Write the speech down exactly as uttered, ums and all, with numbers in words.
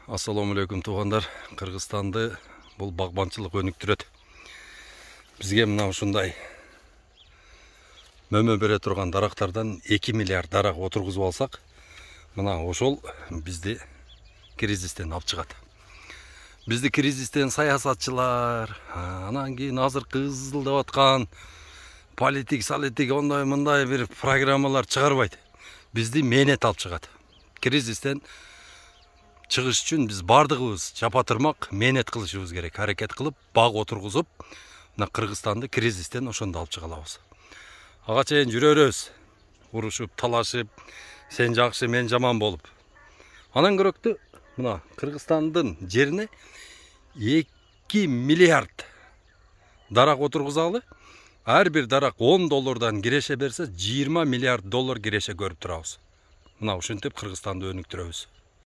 Ассаламу алейкум туугандар. Кыргызстанды бул багбанчылык өнүктүрөт. Бизге мына ушундай мөмө бере турган дарактардан эки миллиард дарак отургузуп алсак, мына ошол бизди кризистен алып чыгат. Бизди кризистен саясатчылар, анан кийин азыр кызылдап аткан политик, салитик ондай мындай бир программалар чыгарбайт. Бизди мээнет алып чыгат. Кризистен чыгыш үчүн биз бардыгыбыз жапатырмак мээнет кылышыбыз керек. Аракет кылып, баг отургузуп, мына Кыргызстанды кризистен ошондо алып чыга алабыз. Ага чейин жүрөрүбүз, урушуп, талашып, сен жакшы, мен жаман болуп. Анан көрөктү, мына Кыргызстандын жерине эки миллиард дарак отургузалы. Ар бир дарак он доллардан киреше берсе, жыйырма миллиард доллар киреше көрүп турабыз. Мына ушинтип Кыргызстанды өнүктүрөбүз.